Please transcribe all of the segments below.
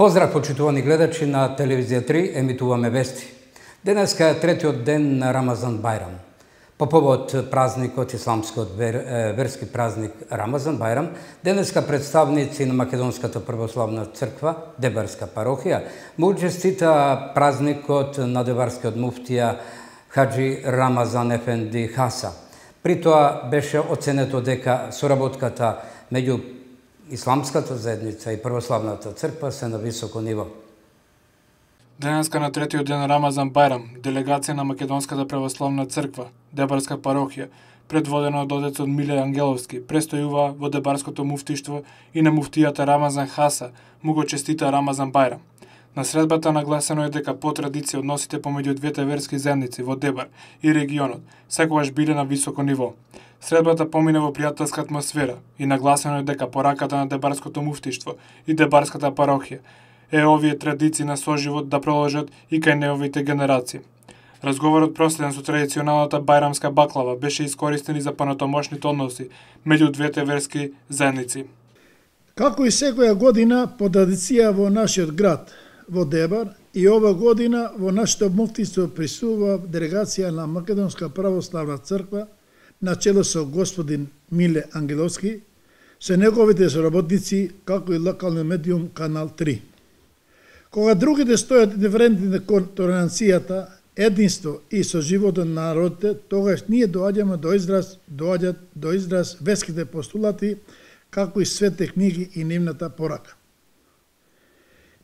Поздрав, почитувани гледачи на Телевизија 3, емитуваме вести. Денеска е третиот ден на Рамазан Бајрам. По повод празникот, исламскиот верски празник Рамазан Бајрам, денеска представници на Македонската православна црква, Дебарска парохија, му честита празникот на Дебарскиот муфтија Хаджи Рамазан Ефенди Хаса. При тоа беше оценето дека соработката меѓу Исламската заедница и православната црква се на високо ниво. Денеска на третиот ден Рамазан Бајрам, делегација на Македонската православна црква, Дебарска парохија, предводена од отецот Миле Ангеловски, престојува во Дебарското муфтиштво и на муфтијата Рамазан Хаса му го честита Рамазан Бајрам. На средбата нагласено е дека по традиција односите помеѓу двете верски заедници во Дебар и регионот секогаш биле на високо ниво. Средбата помина во пријателска атмосфера и нагласено е дека пораката на Дебарското муфтиштво и Дебарската парохија е овие традиции на соживот да продолжат и кај неовите генерации. Разговорот проследен со традиционалната бајрамска баклава беше искористен и за понатомошните односи меѓу двете верски заедници. Како и секоја година по традиција во нашиот град, во Дебар, и ова година во нашето муфтиство присуства делегација на Македонска православна црква на чело со господин Миле Ангеловски, со неговите соработници, како и локалниот медиум Канал 3. Кога другите стојат индиферентни кон толеранцијата, единство и соживотот на народите, тогаш ние доаѓаме доаѓаат до израз верските постулати, како и свете книги и нивната порака.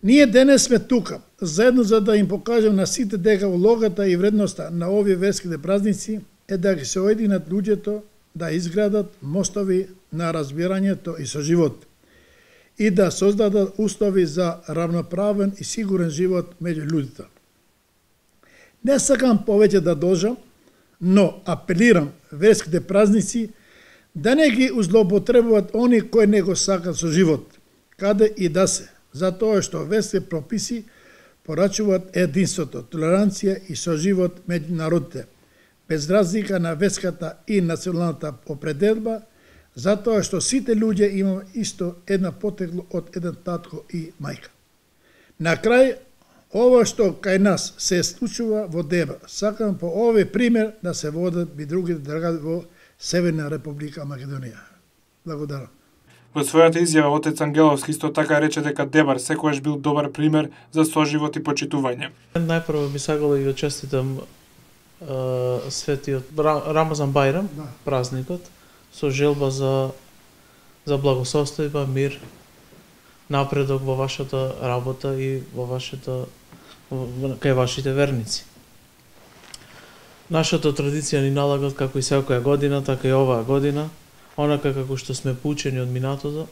Ние денес сме тука, заедно за да им покажем на сите дека улогата и вредноста на овие верските празници е да ги се оединат луѓето, да изградат мостови на разбирањето и соживот и да создадат услови за равноправен и сигурен живот меѓу луѓето. Не сакам повеќе да должам, но апелирам верските празници да не ги злоупотребуваат они кои не го сакат со живот, каде и да се, затоа што верските прописи порачуваат единството, толеранција и соживот меѓу народите, без разлика на верската и националната определба, затоа што сите луѓе имаме исто една потекло од еден татко и мајка. На крај, ова што кај нас се случува во Дебар, сакам по овој пример да се водат и другите дргави во Северна Република Македонија. Благодарам. Во својата изјава отец Ангеловски исто така рече дека Дебар секогаш бил добар пример за соживот и почитување. Најпрво би сакал да ги честитам светиот Рамазан Бајрам, празникот, со желба за благосостојба, мир, напредок во вашата работа и кај вашите верници. Нашата традиција ни налага како и секоја година, така и оваа година, онака како што сме поучени од минатото,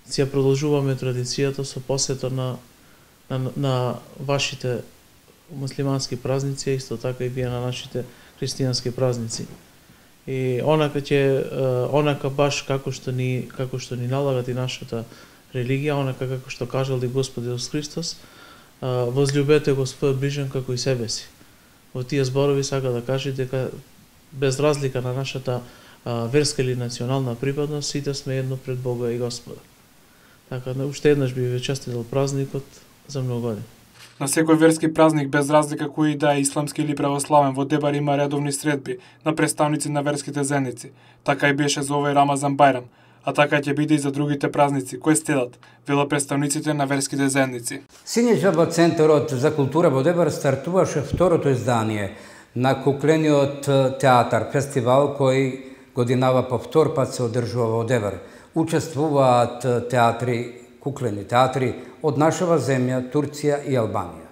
си ја продолжуваме традицијата со посета на вашите муслимански празници, исто така и вие на нашите христијански празници. И онака баш како што ни налагат и нашата религија, онака како што кажал и Господ Исус Христос, возљубете го својот ближен како и себе си. Во тие зборови сака да каже дека без разлика на нашата верска или национална припадност, сите сме едно пред Бога и Господа. Така, уште еднаш би ве честитал празникот за многу години. На секој верски празник, без разлика кој да е исламски или православен, во Дебар има редовни средби на представници на верските заедници. Така и беше за овој Рамазан Бајрам, а така ќе биде и за другите празници, кои следат, велат представниците на верските заедници. Синеќа во Центарот за култура во Дебар стартуваше второто издание на куклениот театар, фестивал кој годинава по втор пат се одржува во Дебар. Учествуваат куклени театри од нашава земја, Турција и Албанија.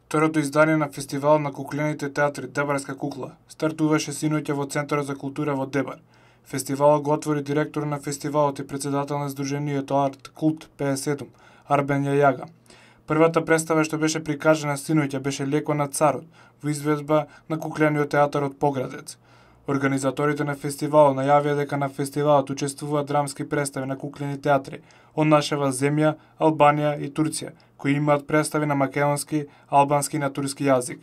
Второто издание на фестивал на куклените театри Дебарска кукла стартуваше синоќа во Центарот за култура во Дебар. Фестивалот го отвори директор на фестивалот и председател на Сдруженијето Арт Култ 57, Арбен Јајага. Првата представа што беше прикажана синоќа беше Леко на царот, во изведба на куклениот театар од Поградец. Организаторите на фестивалот најавија дека на фестивалот учествуваат драмски представи на куклени театри од нашава земја, Албанија и Турција, кои имаат представи на македонски, албански и на турски јазик.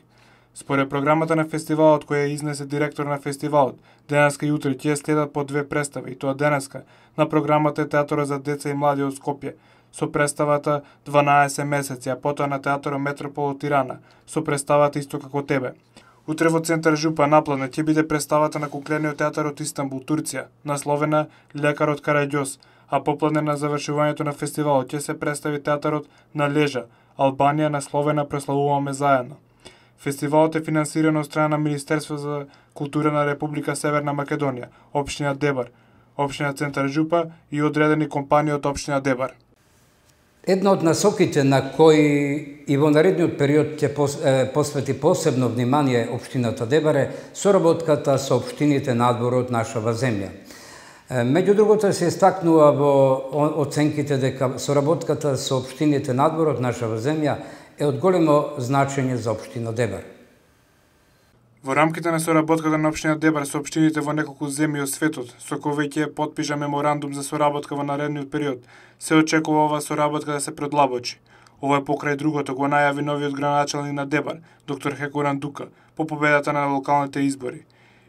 Според програмата на фестивалот која изнесе директор на фестивалот, денеска и утре ќе следат по 2 представи, и тоа денеска на програмата е Театарот за деца и млади од Скопје, со представата 12 месеци, а потоа на Театарот Метропол од Тирана, со представата Исто како тебе. Утре во центар Жупа напладне ќе биде представата на куклениот театар од Истанбул, Турција, насловена Лекарот Караѓоз, а попладне на завршувањето на фестивалот ќе се представи театарот на Лежа, Албанија, насловена Прославуваме заедно. Фестивалот е финансиран од страна на Министерство за култура на Република Северна Македонија, општина Дебар, општина Центар Жупа и одредени компании од општина Дебар. Една од насоките на кои и во наредниот период ќе посвети посебно внимание општината Дебар е соработката со општините надвор од нашава земја. Меѓу другото се истакнува во оценките дека соработката со општините надвор од нашава земја е од големо значење за општина Дебар. Во рамките на соработката на општина Дебар со општините во неколку земји од светот, со кои веќе потпиша меморандум за соработка во наредниот период, се очекува оваа соработка да се предлабочи. Ова е покрај другото го најави новиот градоначалник на Дебар, доктор Хекоран Дука, по победата на локалните избори.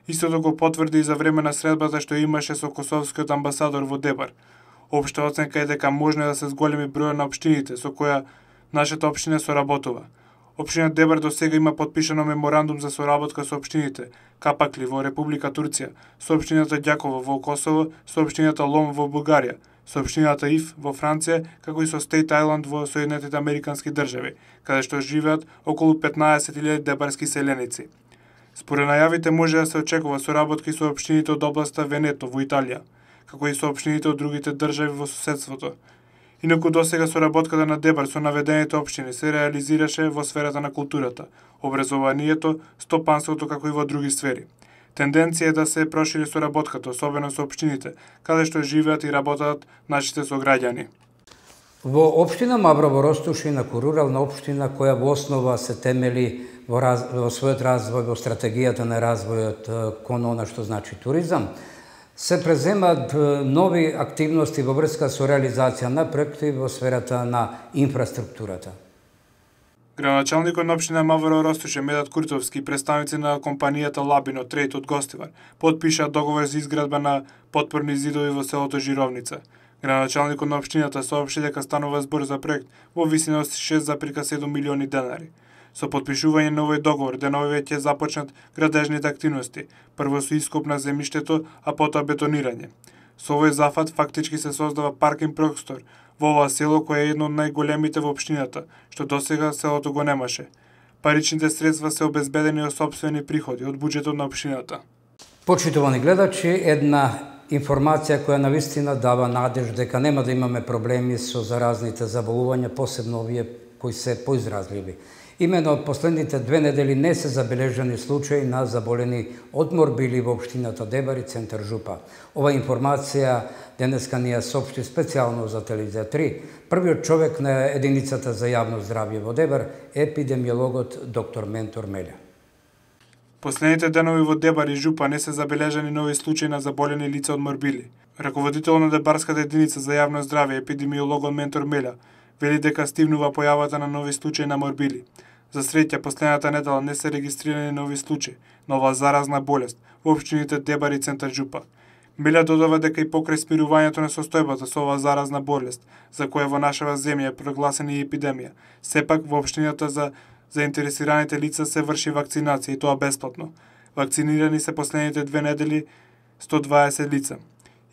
Истото го потврди и за време на средбата што имаше со косовскиот амбасадор во Дебар. Општа оценка е дека можно да се зголеми бројот на општините со која нашата општина соработува. Општина Дебар до сега има потпишано меморандум за соработка со општините Капакли во Република Турција, со општината Ѓаково во Косово, со општината Лом во Бугарија, со општината Ив во Франција, како и со Стејт Ајланд во Соединетите Американски држави, каде што живеат околу 15.000 дебарски селеници. Според најавите може да се очекува соработки со општините од областа Венето во Италија, како и со општините од другите држави во соседството. Инаку досега соработката на Дебар со наведените општини се реализираше во сферата на културата, образованието, стопанството како и во други сфери. Тенденција е да се прошири соработката, особено со општините, каде што живеат и работат нашите сограѓани. Во општина Маврово Ростуш, инаку рурална општина која во основа се темели во својот развој, во стратегијата на развојот кон она што значи туризам, се преземат нови активности во врска со реализација на проекти во сферата на инфраструктурата. Градоначалникот на општина Маврово Ростуш Медат Куртовски и представници на компанијата Лабино Трейд од Гостивар потпишаа договор за изградба на потпорни зидови во селото Жировница. Градоначалникот на општината соопшти дека станува збор за проект во висина од 6,7 милиони денари. Со потпишување на овој договор, деновиве ќе започнат градежните активности, прво со ископ на земјиштето, а потоа бетонирање. Со овој зафат фактички се создава паркинг простор во ова село кое е едно од најголемите во општината, што досега селото го немаше. Паричните средства се обезбедени од сопствени приходи од буџетот на општината. Почитувани гледачи, една информација која навистина дава надеж дека нема да имаме проблеми со заразните заболувања, посебно овие кои се поизразливи. Имено последните 2 недели не се забележани случаи на заболени од морбили во општината Дебар и Центар Жупа. Ова информација денеска ни ја соопшти специјално за Телевизија 3. Првиот човек на единицата за јавно здравје во Дебар е епидемиологот доктор Ментор Мелја. Последните денови во Дебар и Жупа не се забележани нови случаи на заболени лица од морбили. Раководител на Дебарската единица за јавно здравје, епидемиологот Ментор Мелја, вели дека стивнува појавата на нови случаи на морбили. За среќа, последната недела не се регистрирани нови случаи на оваа заразна болест во општините Дебар и Центар Жупа. Мелја додава дека и покрај смирувањето на состојбата со оваа заразна болест, за која во нашава земја е прогласена и епидемија, сепак во општината за заинтересираните лица се врши вакцинација и тоа бесплатно. Вакцинирани се последните 2 недели 120 лица.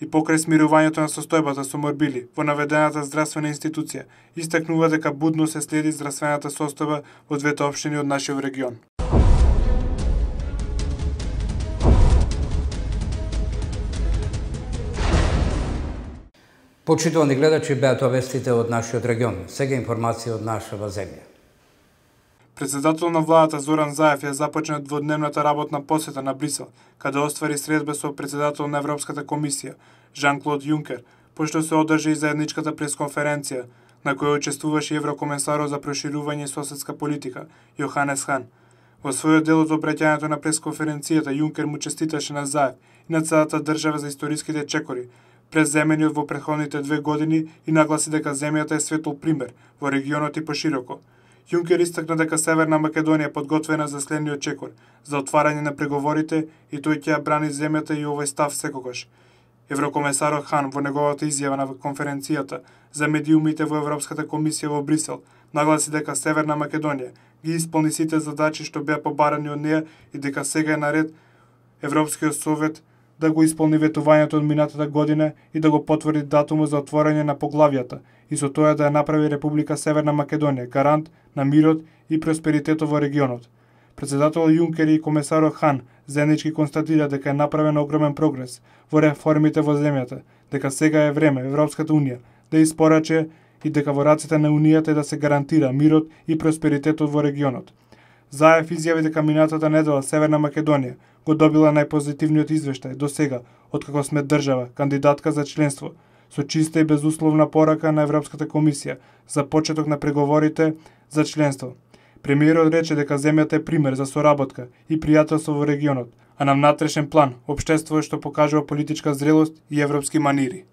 И покрај смирувањето на состојбата со морбили во наведената здравствена институција, истакнува дека будно се следи здравствената состојба во двете општини од нашиот регион. Почитувани гледачи, беа тоа вестите од нашиот регион. Сега информација од нашава земја. Председател на владата Зоран Заев ја започна дводневната работна посета на Брисел, каде оствари средба со председател на Европската комисија, Жан-Клод Јункер, пошто се одржи и заедничката пресконференција, на која учествуваше и еврокомесарот за проширување и соседска политика, Јоханес Хан. Во својот дел од обраќањето на пресконференцијата, Јункер му честиташе на Заев и на целата држава за историските чекори, преземени во претходните 2 години и нагласи дека земјата е светол пример во регионот и пошироко. Јункер истакна дека Северна Македонија е подготвена за следниот чекор, за отварање на преговорите и тој ќе ја брани земјата и овој став секогаш. Еврокомесарот Хан во неговата изјава на конференцијата за медиумите во Европската комисија во Брисел нагласи дека Северна Македонија ги исполни сите задачи што беа побарани од неа и дека сега е наред Европскиот совет да го исполни ветувањето од минатата година и да го потврди датумот за отворање на поглавјата и со тоа да ја направи Република Северна Македонија гарант на мирот и просперитетот во регионот. Председател Јункер и комесарот Хан заеднички констатира дека е направен огромен прогрес во реформите во земјата, дека сега е време Европската Унија да испораче и дека во рацете на Унијата е да се гарантира мирот и просперитетот во регионот. Заев изјави дека минатата недела Северна Македонија го добила најпозитивниот извештај до сега откако сме држава кандидатка за членство, со чиста и безусловна порака на Европската комисија за почеток на преговорите за членство. Премиерот рече дека земјата е пример за соработка и пријателство во регионот, а на внатрешен план општество што покажува политичка зрелост и европски манири.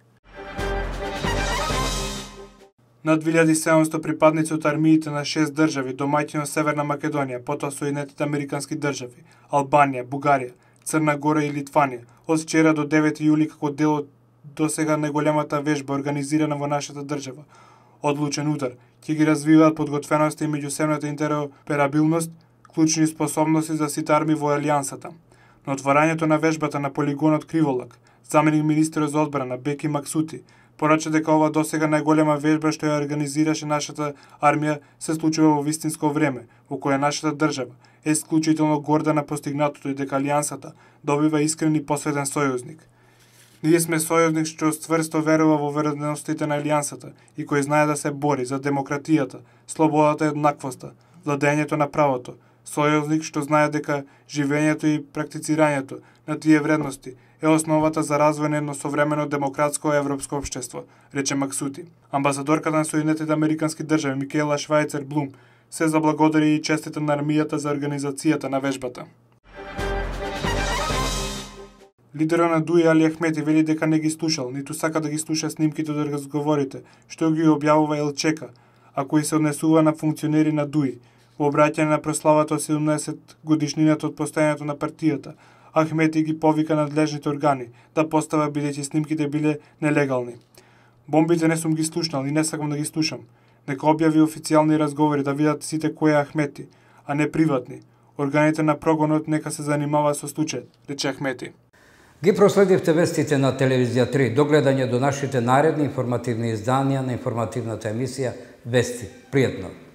Над 2700 припадници од армиите на 6 држави домаќини од Северна Македонија, потоа Соединетите Американски држави, Албанија, Бугарија, Црна Гора и Литванија, од вчера до 9 јули како дел од досега најголемата вежба организирана во нашата држава, Одлучен удар, ќе ги развиваат подготвеноста и меѓусебната интероперабилност, клучни способности за сите армии во алијансата. На отварањето на вежбата на полигонот Криволак, заменик министерот за одбрана Беки Максути порача дека ова досега најголема вежба што ја организираше нашата армија се случува во вистинско време, во кое нашата држава е исклучително горда на постигнатото и дека алијансата добива искрен и посветен сојузник. Ние сме сојузник што стврсто верува во вредностите на алијансата и кој знае да се бори за демократијата, слободата и еднаквоста, владењето на правото, сојузник што знае дека живењето и практицирањето на тие вредности е основата за развој на едно современо демократско европско општество, рече Максути. Амбасадорката на Соединетите Американски држави Микаела Швајцер Блум се заблагодари и честита на армијата за организацијата на вежбата. Лидерот на ДУИ Али Ахмети вели дека не ги слушал, ниту сака да ги слуша снимките од разговорите, што ги објавува Елчека, а кои се однесува на функционери на ДУИ. Во обраќање на прославата од 17 годишнината од постојањето на партијата, Ахмети ги повика надлежните органи да постава бидејќи снимките биле нелегални. Бомбите не сум ги слушнал и не сакам да ги слушам. Нека објави официјални разговори да видат сите кој е Ахмети, а не приватни. Органите на прогонот нека се занимава со случајот, рече Ахмети. Ги проследивте вестите на Телевизија 3. До гледање до нашите наредни информативни изданија на информативната емисија Вести. Пријатно!